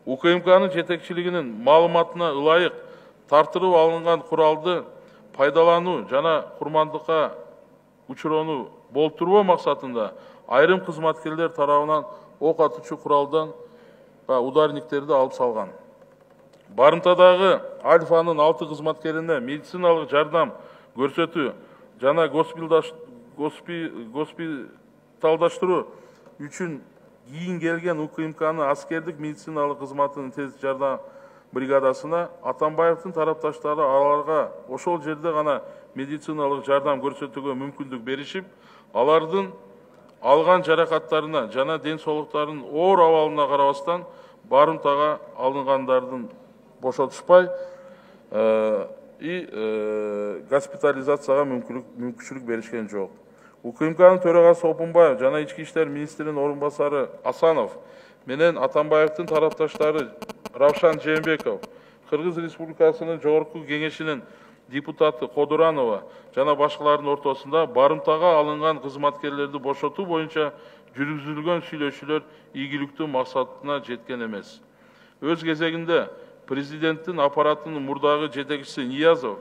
УКМКнын жетекчилигинин маалыматына ылайык тартырып алынган куралды пайдалануу жана курмандыкка учуроону болтурбоо максатында айрым кызматкерлер тарабынан ок атуучу куралдан ударниктерди алып салган. Барымтадагы Альфанын 6 кызматкерине медициналык жардам көрсөтүү жана госпиталдаштыруу үчүн кийин келген УКМКнын аскердик медициналык кызматынын тез жардам бригадасына Атамбаевдин тарапташтары аларга ошол жерде гана медициналык жардам көрсөтүүгө мүмкүндүк беришип, алардын алган жаракаттарына жана ден соолуктарынын оор абалына карабастан барымтага алынгандардын бошотушпай госпитализацияга мүмкүнчүлүк беришкен жок. УКМКнын төрагасы Опунбаев жана Ички иштер министринин орун басары Асанов менен Атамбаевдин тарапташтары Равшан Жээнбеков, Кыргыз Республикасынын Жогорку Кеңешинин депутаты Кодуранова жана башкалардын ортосунда барымтага алынган кызматкерлерди бошотуу боюнча жүргүзүлгөн сүйлөшүүлөр ийгиликтүү максатына жеткен эмес. Өз кезегинде президенттин аппаратынын мурдагы жетекчиси Ниязов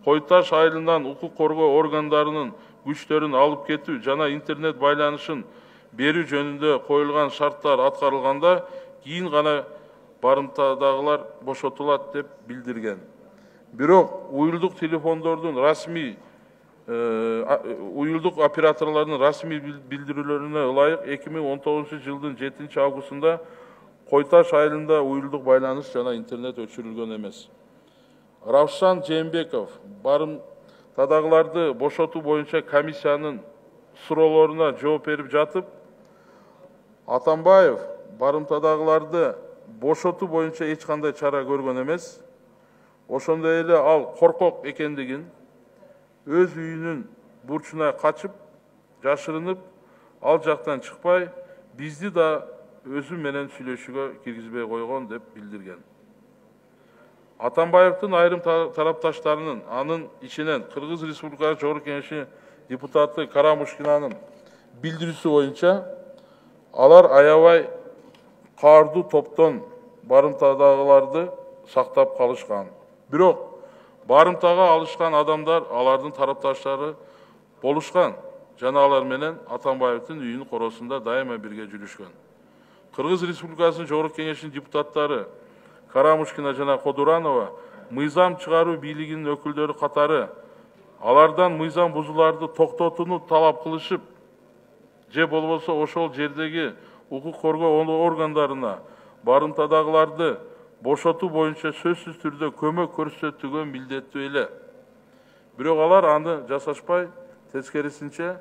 Кой Таш айылынан укук коргоо органдарынын күчтөрүн алып кетүү жана интернет байланышын берүү жөнүндө коюлган шарттар аткарылганда кийин гана барымтадагылар бошотулат деп билдирген. Бирок уюлдук телефондордун расмий уюлдук операторлордун расмий билдирүүлөрүнө ылайык 2019-жылдын 7-августунда Кой Таш айылында уюлдук байланыш жана интернет өчүрүлгөн эмес. Равшан Жээнбеков барымтадагыларды бошотуу боюнча комиссиянын суроолоруна жооп берип жатып, Атамбаев барымтадагыларды бошотуу боюнча эч кандай чара көргөн эмес. Ошондой эле ал коркок экендигин, өз үйүнүн бурчуна качып, жашырынып, ал жактан чыкпай, бизди да өзү менен сүйлөшүүгө киргизбей койгон деп билдирген. Атамбаевдин айрым тарапташтарынын, анын ичинен Кыргыз Республикасы Жогорку Кеңеши депутаты Карамушкинанын билдирүүсү боюнча, алар аябай каардуу топтон барымтадагыларды сактап калышкан. Бирок барымтага алышкан адамдар алардын тарапташтары болушкан жана алар менен Атамбаевдин үйүнүн коросунда дайыма бирге жүрүшкөн. Кыргыз Республикасынын Жогорку Кеңешинин депутаттары Карамушкина жана Кодуранова мыйзам чыгаруу бийлигинин өкүлдөрү катары алардан мыйзам бузууларды токтотууну талап кылышып, же болбосо ошол жердеги укук коргоо органдарына барымтадагыларды бошотуу боюнча сөзсүз түрдө көмөк көрсөтүүгө милдеттүү эле. Бирок алар аны жасашпай, тескерисинче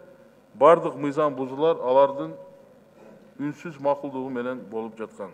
бардык мыйзам бузуулар алардын үнсүз макулдугу менен болуп жаткан.